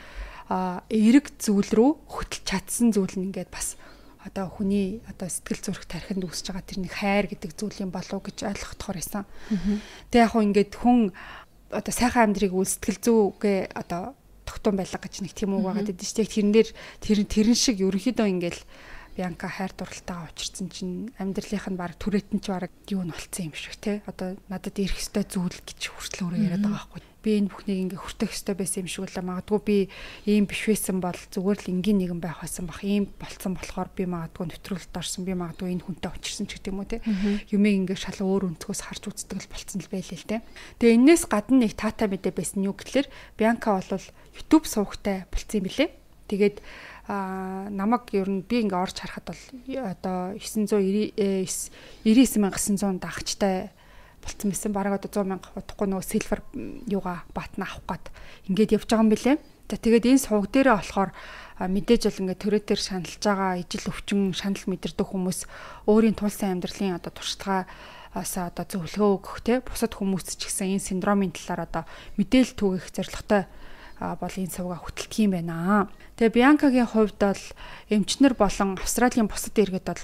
эерэг зүйл рүү хөтлж чадсан зүйл нь ингээд бас одоо хүний одоо сэтгэл зүрх тархинд үүсэж байгаа тэрний хайр гэдэг зүйлийн болов гэж ойлгохдохоор байсан. Тэгээ яг хөө ингээд хүн одоо сайхан амьдрыг үл сэтгэл зүйгээ одоо тогтун байлга гэж нэг тийм үг байгаад байдаг шүү дээ. Тэрэн шиг ерөнхийдөө ингээд Бианка хайр дурлалтайгаа учирсан чинь амьдралынх нь баг түрээт нь ч баг юу нь болцсон юм шиг те. Одоо надад ирэх ёстой зүйл гэж хүртэл өөрөө яриад байгаа байхгүй. Би энэ бүхнийг ингээ хүртэх ёстой байсан юм шиг үлээ. Магадгүй би ийм биш байсан бол зүгээр л энгийн нэгэн байх байсан бах. Ийм болцсон болохоор би магадгүй нэвтрүүлэлт орсон. Би магадгүй энэ хүнтэй учирсан ч гэдэг юм уу те. Юмыг ингээ шал өөр өнцгөөс харж үздэг л болцсон л байлээ л те. Тэгээ энэс гадна нэг таатай мэдээ байсан юу гэхэлэр Бианка бол YouTube сувагтай болцсон юм билэ. Тэгээд намайг ер нь би ингээ орж харахад бол одоо 999,900 дагчтай болцсон байсан. Бараг одоо 100,000 удахгүй нөгөө silver юугаа батна авах гээд ингээд явж байгаа юм билэ. За тэгээд энэ суваг дээрээ болохоор мэдээж бол ингээ төрөтөр шаналж байгаа ижил өвчин шанал мэдэрдэг хүмүүс өөрийн тулсан амьдралын одоо туршлагаас одоо зөвлөгөө өгөх те бусад хүмүүс ч гэсэн энэ синдромын талаар одоо мэдээлэл түгэх зорилготой бол энэ сувгаа хөтэлдэг юм байна. Тэгээ Бианкагийн хувьд бол эмчнэр болон Австралийн бусад иргэд бол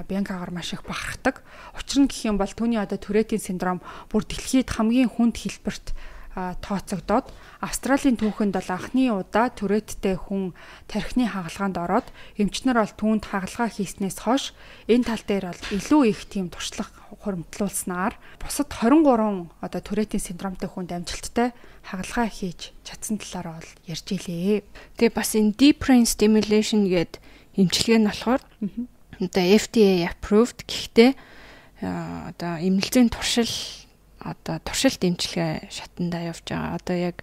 Бианкагаар маш их бахархдаг. Учир нь гэх юм бол түүний одоо Туретийн синдром бүр дэлхийд хамгийн хүнд хэлбэрт тооцогдоод Австралийн түүхэнд бол анхны удаа Туреттэй хүн тархины хагалгаанд ороод эмчнэр бол түүнд хагалгаа хийснээс хойш энэ тал дээр бол илүү их тийм туршлага хуримтлуулснаар бусад 23 одоо Туретийн синдромтой хүнд амжилттай хагалгаа хийж чадсан талаараа бол ярьж илээ. Тэгээ бас энэ deep brain stimulation гэдэг эмчилгээ нь болохоор одоо FDA approved гэхдээ одоо эмнэлзийн туршилт эмчилгээ шатандаа явж байгаа. Одоо яг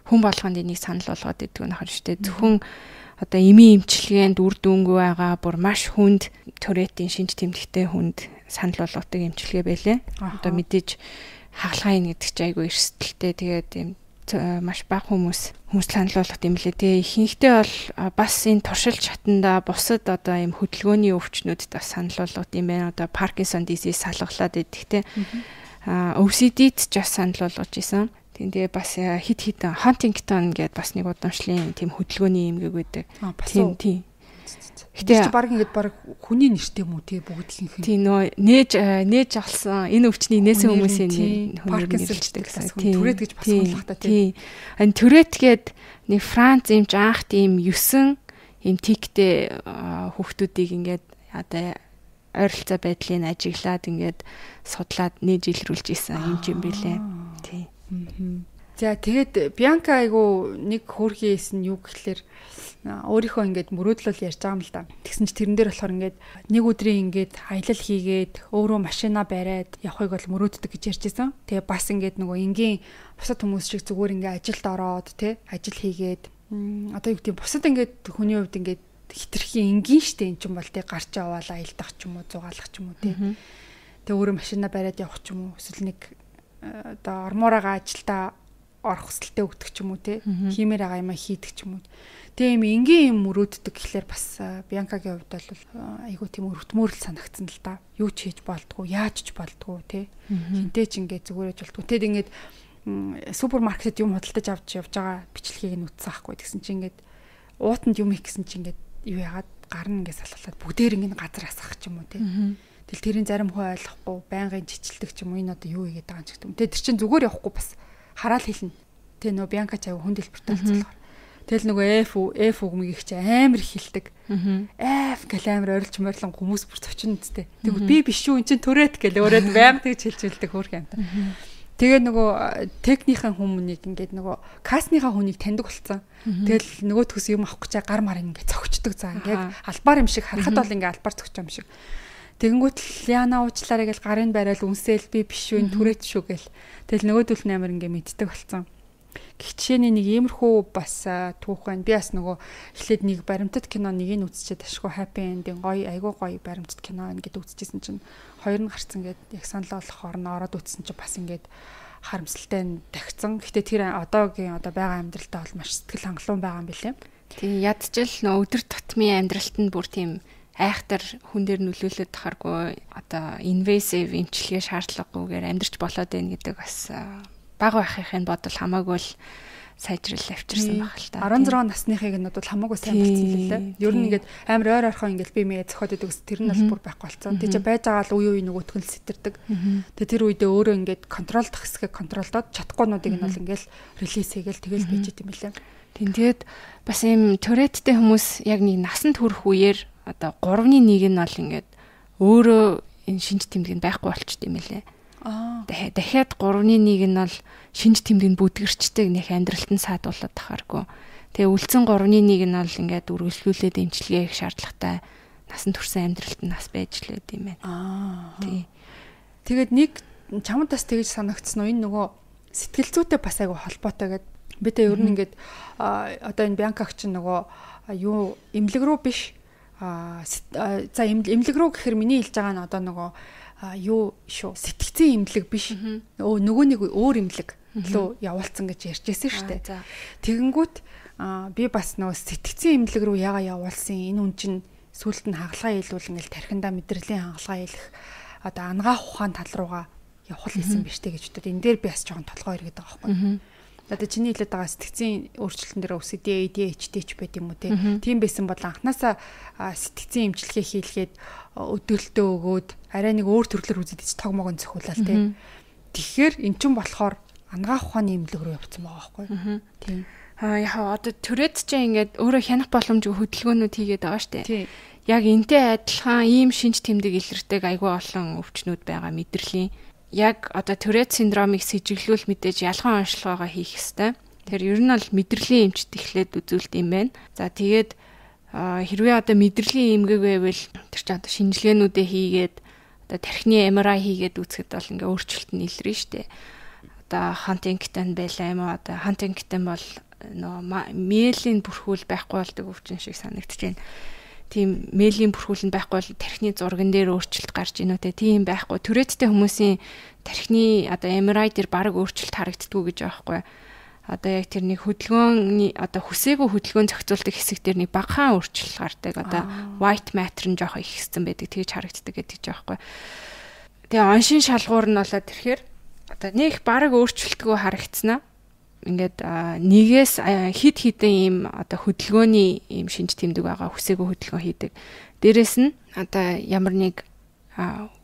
хүн болгонд энийг санал болгоод идэх нь харж штэ. Зөвхөн одоо эмийн эмчилгээнд үр дүнгүй байгаа бүр маш хүнд Туретийн шинж тэмдэгтэй хүнд санал болгодог эмчилгээ байлээ. Одоо мэдээж хагалгаа ийн гэдэг чинь айгүй эрсдэлтэй. Тэгээд юм маш бага хүмүүс санал болгох юм лээ. Тэгээ ихэнхдээ бол бас энэ туршилт шатанда бусад одоо юм хөдөлгөөний өвчнүүдэд бас санал болгох юм байна. Одоо Parkinson disease салгалаад идэх те. OCD-д ч бас санал болгож исэн. Тэгээ бас хит Huntington гэдэг бас нэг удамшлын тийм хөдөлгөөний юм гэдэг. Тийм. Гэтэ баг ингээд баг хүний нэртэй юм уу тий бүгдийнх нь. Тийм нөө нээж авсан энэ өвчний нээсэн хүмүүсийн Parkinson-тэй гэсэн. Түрээд гэж бас сонлох та тий. Энэ түрээд гээд нэг Франц эмч анх тийм 9 юм тиктэй хүүхдүүдийг ингээд одоо ойролцоо байдлыг ажиглаад ингээд судлаад нээж илрүүлж исэн юм юм бэлээ. Тий. За тэгээд Бианка айгу нэг хөөрхийсэн юу гэхэлэр өөрийнхөө ингээд мөрөөдлөл ярьж байгаа юм л да. Тэгсэн чи тэрэн дээр болохоор ингээд нэг өдрийн ингээд аялал хийгээд өөрөө машина бариад явахыг бол мөрөөддөг гэж ярьжсэн. Тэгээ бас ингээд нөгөө энгийн бусад хүмүүс шиг зүгээр ингээд ажилд ороод те ажил хийгээд одоо юу гэдэг бусад ингээд хүний хувьд ингээд хитрхийн энгийн штэ эн чинь бол те гарч яваал аялдах ч юм уу зугаалах ч юм уу те. Тэгээ өөрөө машина бариад явах ч юм уу эсвэл нэг одоо ормоороо ажилдаа орох хүсэлтэд өгдөг ч юм уу те хиймээр байгаа юм хийдэг ч юм уу. Тэгээ юм энгийн юм мөрөөддөг гэхлээр бас Бианкагийн хувьд бол айгуу тийм өрөвтмөөрл санагдсан л да. Юу ч хийж болдгоо, яаж ч болдгоо те. Хинтээ ч ингээд зүгээрэж болдгоо. Тэгэд ингээд супермаркетд юм худалдаж авч явж байгаа бичлэгийг нь үзсэн байхгүй. Тэгсэн чинь ингээд уутанд юм хийх гэсэн чинь ингээд юу яагаад гарна ингээд салгалаад бүгдээр ингээд газар асгах ч юм уу те. Тэгэл тэрийн зарим хөө ойлгохгүй байнгын чичилдэг ч юм уу энэ одоо юу хийгээд байгаа юм ч гэдэг юм. Тэгээ тэр чинь зүгээр явахгүй бас хараал хэлнэ. Тэгээ нөө Бианка ч аяа хүн дэлбэртэй болцолгоор. Тэгэл нөгөө F үгмийг чи амар хилдэг. F гэл амар орилж морилон хүмүүс бүр цочин үсттэй. Тэгвэл би биш үү эн чин түрээд гэл өөрөө байнга тэгж хэлжүүлдэг хөөх юм та. Тэгээ нөгөө техникийн хүмүүнийг ингээд нөгөө касныхаа хүнийг таньдаг болсон. Тэгэл нөгөөдхөөс юм авах гэж гар мар ингээд цогчдөг заа. Яг албаар юм шиг харахад бол ингээд албаар цогч юм шиг. Тэгэнгүүт л яана уучлаарай гэл гарын барайл үнсэл би биш үү түрээд шүү гэл. Тэгэл нөгөөдөл нь амар ингээд мэддэг болсон. Гихчээний нэг иймэрхүү бас түүх байна. Би бас нөгөө эхлээд нэг баримтат кино нэг нь үзчихээд ашгүй happy ending гоё айгуу гоё баримтат кино ингээд үзчихсэн чинь хоёр нь гарцсан гээд яг санал болгохоор нь ороод үзсэн чинь бас ингээд харамсалтай тагцсан. Гэтэ тэр одоогийн одоо байгаа амьдралтаа бол маш сэтгэл хангалуун байгаа юм билээ. Тийм ядчил нөө өдөр тутмын амьдралт нь бүр тийм айхтар хүн дээр нөлөөлөд тахаргүй одоо invasive эмчилгээ шаардлагагүйгээр амьдрч болоод байна гэдэг бас бага байхын бодол хамаагүй л сайжрал авчирсан баг л та. 16 насныхыг нь бол хамаагүй сайн болсон юм лээ. Ер нь ингээд амар ойр орхон ингээд би мэ зөхөд идэг ус тэр нь бол бүр байхгүй болсон. Тэг чи байж байгаа л үе нөгөөх нь сэтэрдэг. Тэг тэр үедээ өөрөө ингээд контролдох хэсгээ контролдоод чадахгүйнуудыг нь бол ингээд релиз хийгээл тэгэл байж идэм билээ. Тэгээд бас ийм Туреттэй хүмүүс яг нэг насанд хүрэх үеэр одоо 3-ны 1 нь бол ингээд өөрөө энэ шинж тэмдэг нь байхгүй болчт юм лээ. Дахиад 3-ны 1 нь бол шинж тэмдэг нь бүдгэрчдэг нэг амьдралтанд саадуулаад тахааргүй. Тэгээ үлдсэн 3-ны 1 нь бол ингээд үргэлжлүүлээд эмчилгээ хийх шаардлагатай насан турш амьдралтанд нас байж л байд юм байна. Тий. Тэгээд нэг чамд бас тэгж санагдсан уу энэ нөгөө сэтгэл зүйтэй бас айгу холбоотой гэдэг. Би тэ ер нь ингээд одоо энэ Бянкаг чинь нөгөө юу эмнэлэг рүү биш за эмнэлэг рүү гэхээр миний хэлж байгаа нь одоо нөгөө юу шүү сэтгцэн эмнэлэг биш нөгөө нэг өөр эмнэлэг лөө явуулсан гэж ярьжсэн шүү дээ. Тэгэнгүүт би бас нөгөө сэтгцэн эмнэлэг рүү яага явуулсан энэ үн чинь сүулт нь хагалгаа хийлүүл ингээл тархиндаа мэдрэлийн хагалгаа хийлэх одоо ангаа ухаан тал руугаа явах хийсэн биш тэ гэж бодод энэ дээр би бас жоохон толгой иргэдэг байгаа байхгүй. Одоо чиний хэлээд байгаа сэтгцэн өөрчлөлтөн дээр OCD, ADHD ч байт юм уу тийм байсан бол анханасаа сэтгцэн эмчилгээ хийлгээд өдөөлтөө өгөөд арай нэг өөр төрлөөр үзэд ч тогмоогон зөхүүлэл тийм. Тэгэхээр эн чинь болохоор ангаах ухааны эмнэлэг рүү явцсан байгаа байхгүй. Тийм. Яг одоо Tourette ч ингээд өөрөө хянах боломжгүй хөдөлгөөнүүд хийгээд байгаа штэ. Яг энтэй адилхан ийм шинж тэмдэг илэрдэг айгүй олон өвчнүүд байгаа мэдрэлийн. Яг одоо Tourette синдромыг сэжиглүүл мэдээж ялхан онцлогоогоо хийх ёстой. Тэр ер нь бол мэдрэлийн эмчт эхлээд үзүүлт юм байна. За тэгээд хэрвээ одоо мэдрэлийн эмгэг байвал тэр чинь одоо шинжилгээнүүдээ хийгээд одоо тархины MRI хийгээд үзэхэд бол ингээ өөрчлөлт нь илэрнэ штэ. Одоо Huntington байлаа юм уу? Одоо Huntington бол нөө мэйлийн бүрхүүл байхгүй болдог өвчин шиг санагдаж байна. Тийм мэйлийн бүрхүүл нь байхгүй бол тархины зурган дээр өөрчлөлт гарч ийнө тэ тийм байхгүй. Touretteтэй хүмүүсийн тархины одоо MRI дээр баг өөрчлөлт харагддгүй гэж байгаа байхгүй. Одоо яг тэр нэг хөдөлгөөний одоо хүсээгүй хөдөлгөөн зохицуулдаг хэсэг дээр нэг багахан өөрчлөлт гардаг. Одоо white matter нь жоох их хэссэн байдаг. Тэгж харагддаг гэдэг ч байгаа байхгүй. Тэгээ оншин шалгуур нь болоод тэрхээр одоо нэг баг өөрчлөлтгүй харагдсанаа ингээд нэгээс хид хідэн ийм одоо хөдөлгөөний ийм шинж тэмдэг байгаа хүсээгүй хөдөлгөөн хийдэг. Дээрэс нь одоо ямар нэг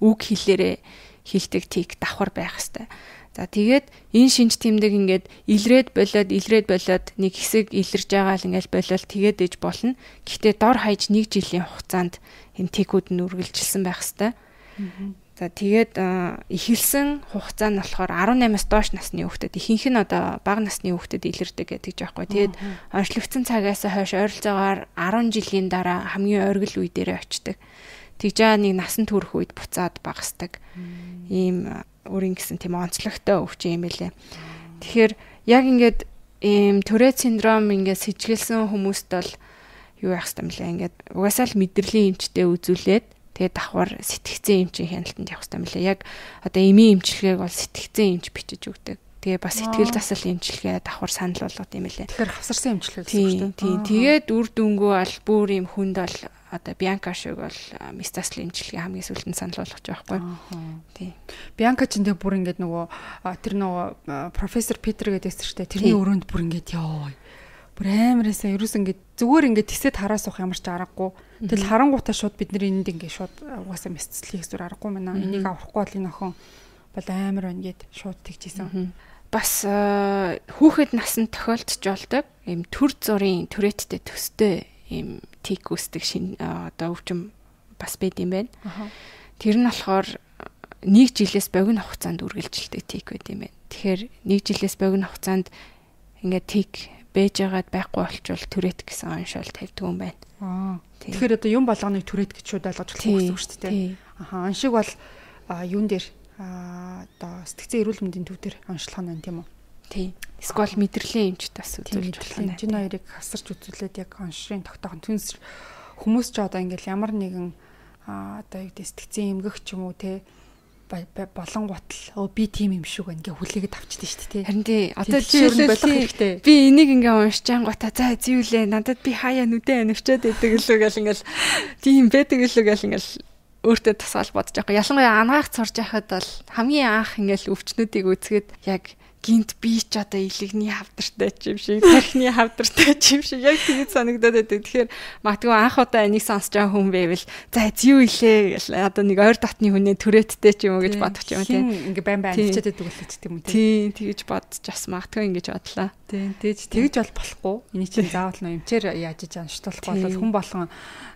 үг хэлээрээ хилдэг тик давхар байх хэвээр. За тэгээд энэ шинж тэмдэг ингээд илрээд болоод нэг хэсэг илэрж байгаа л ингээд болол тэгээд ээж болно. Гэхдээ дор хаяж 1 жилийн хугацаанд энэ тикүүд нь үргэлжилсэн байх хэвээр. За тэгээд эхэлсэн хугацаа нь болохоор 18-аас доош насны хүүхдэд ихэнх нь одоо бага насны хүүхдэд илэрдэг гэдэг жаахгүй. Тэгээд онцлогдсон цагаас хойш ойролцоогоор 10 жилийн дараа хамгийн оргил үе дээрээ очдог. Тэгж нэг насан турш үед буцаад багасдаг. Ийм өөрийн гэсэн тийм онцлогтой өвчин юм байлээ. Тэгэхээр яг ингээд ийм Tourette синдром ингээд сэжгэлсэн хүмүүст бол юу яах юм бэ? Ингээд угаасаа л мэдрэлийн эмчтэй үзүүлээд тэгээд давхар сэтгцэн эмчийн хяналтанд явах хэрэгтэй мөлий. Яг одоо эмийн эмчилгээг бол сэтгцэн эмч бичиж өгдөг. Тэгээ бас сэтгэл засал эмчилгээ давхар санал болгоод юм лээ. Тэгэхээр хавсарсан эмчилгээ гэсэн үг шүү дээ. Тийм. Тэгээд үр дүнгөө бол бүр юм хүнд бол одоо Бянка шиг бол мистасл эмчилгээ хамгийн сүүлд нь санал болгож байгаа байхгүй. Тийм. Бянка ч энэ бүр ингээд нөгөө тэр нөгөө профессор Питер гэдэг шүү дээ. Тэрний өрөөнд бүр ингээд ёо. Бүр амарсаа ерөөс ингээд зүгээр ингээд тисэд хараа суух ямар ч аргагүй. Тэгэл харангуутаа шууд бид нар энд ингээд шууд угаасаа мисцлийг зүр аргагүй мэнэ. Энийг аврахгүй бол энэ охин бол амар байна гэд шууд тэгжсэн. Бас хүүхэд насанд тохиолдож болдог ийм төр зургийн Touretteтэй төстэй ийм тик үүсдэг одоо өвчин бас байд юм байна. Тэр нь болохоор 1 жилээс богино хугацаанд үргэлжилдэг тик байд юм байна. Тэгэхээр 1 жилээс богино хугацаанд ингээд тик бэж байгаад байхгүй болчвол Tourette гэсэн оншол тавьдаг юм байна. Тэгэхээр одоо юм болгоныг Tourette гэж шууд ойлгож болох гэсэн үг шүү дээ. Оншиг бол юун дээр одоо сэтгцэн эрүүл мэндийн төв дээр онцлох нь тийм үү? Тийм. Эсвэл мэдрэлийн эмчт бас үзүүлж болох нь. Энэ хоёрыг хасарч үзүүлээд яг оншрын тогтоох түнс хүмүүс ч одоо ингээл ямар нэгэн одоо яг сэтгцэн эмгэх ч юм уу те болон гутал би тийм юм шиг ингээ хүлээгээд авчдээ шүү дээ. Харин тий одоо жишээлбэл би энийг ингээ уншиж ангуута за зэвлээ надад би хаяа нүдэн анивчаад байдаг л үгээл ингээл тийм байдаг л үгээл ингээл өөртөө тасгаал бодож байгаа. Ялангуяа ангаах сурж байхад бол хамгийн анх ингээл өвчнүүдийг үзгээд яг гинт би ч одоо илэгний хавдартай ч юм шиг, тархины хавдартай ч юм шиг яг тэгж санагдаад байдаг. Тэгэхээр магадгүй анх удаа энийг сонсож байгаа хүн байвал за юу илээ гэл одоо нэг ойр дотны хүнээ түрээдтэй ч юм уу гэж бодох юм тийм. Ингээ байн байн хичээд байдаг үлээч тийм үү. Тийм тэгж бодож бас магадгүй ингэж бодлоо. Тийм тэгж бол болохгүй. Эний чинь заавал нөө эмчээр яаж иж анштуулахгүй бол хүн болгон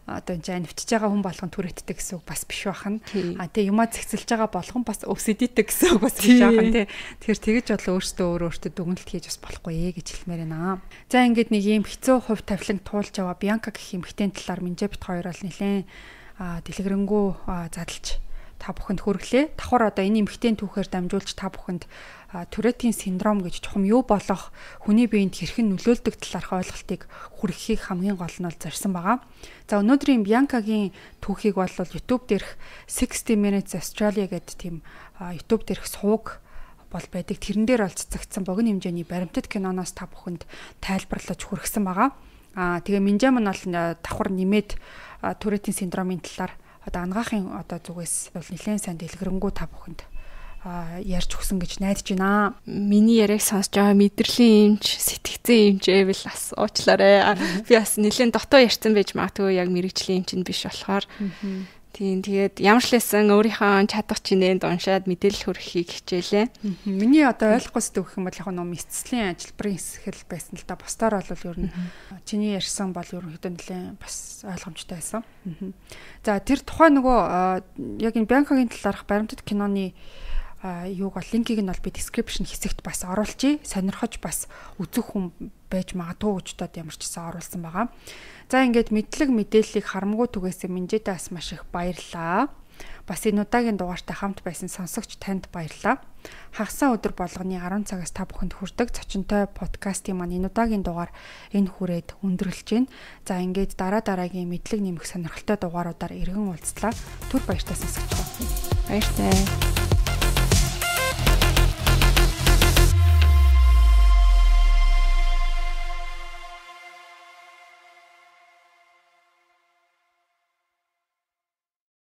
одоо энэ анивчж байгаа хүн болгон түрээдтэй гэсэн үг бас биш бахан. Тэгээ юмаа зэгцэлж байгаа болгон бас өвсөдийтэй гэсэн үг бас биш бахан тий. Тэгэхээр тэгж бол өөртөө дүгнэлт хийж бас болохгүй гэж хэлмээр байна. За ингээд нэг юм хэцүү хувь тавиланг туулж аваа Бянка гэх эмэгтэй талаар Минжэ бит хоёр бол нэлээд дэлгэрэнгүй задлж та бүхэнд хүргэлээ. Давхар одоо энэ эмэгтэй түүхээр дамжуулж та бүхэнд Туретийн синдром гэж чухам юу болох хүний биед хэрхэн нөлөөлдөг талаарх ойлголтыг хүргэхийг хамгийн гол нь бол зорьсон байгаа. За өнөөдрийн Бянкагийн түүхийг бол YouTube дээрх 60 Minutes Australia гэдэг тийм YouTube дээрх сувг бол байдаг. Тэрэн дээр бол цэцэгдсэн богино хэмжээний баримтат киноноос та бүхэнд тайлбарлаж хүргэсэн байгаа. Тэгээ Минжэ мань бол давхар нэмээд Туретийн синдромын талаар одоо ангаахын одоо зүгээс бол нэлээд сайн дэлгэрэнгүй та бүхэнд ярьж өгсөн гэж найдаж байна. Миний яриаг сонсож байгаа мэдрэлийн эмч, сэтгцэн эмч эвэл бас уучлаарай. Би бас нэлээд дотоо ярьсан байж магадгүй яг мэрэгжлийн эмч нь биш болохоор. Тийм тэгээд ямар ч лсэн өөрийнхөө чадах чинээнд уншаад мэдээлэл хүргэхийг хичээлээ. Миний одоо ойлгохоос дүүх юм бол яг нэг мэдцлийн ажилбарын хэсгэл байсан л да. Бусдаар бол ер нь чиний ярьсан бол ерөнхийдөө нэлээд бас ойлгомжтой байсан. За тэр тухайн нөгөө яг энэ Бянкагийн талаарх баримтат киноны юуг бол линкийг нь бол би description хэсэгт бас оруулчихъя. Сонирхож бас үзэх хүн байж магадгүй гэж бодоод ямар ч гэсэн оруулсан байгаа. За ингээд мэдлэг мэдээллийг харамгүй түгээсэн Минжэдээс маш их баярлалаа. Бас энэ удаагийн дугаартай хамт байсан сонсогч танд баярлалаа. Хагасаа өдөр болгоны 10 цагаас та бүхэнд хүрдэг зочинтой подкастын маань энэ удаагийн дугаар энэ хүрээд өндөрлөж байна. За ингээд дараагийн мэдлэг нэмэх сонирхолтой дугааруудаар эргэн уулзлаа. Түр баяртай сонсогч. Баяртай.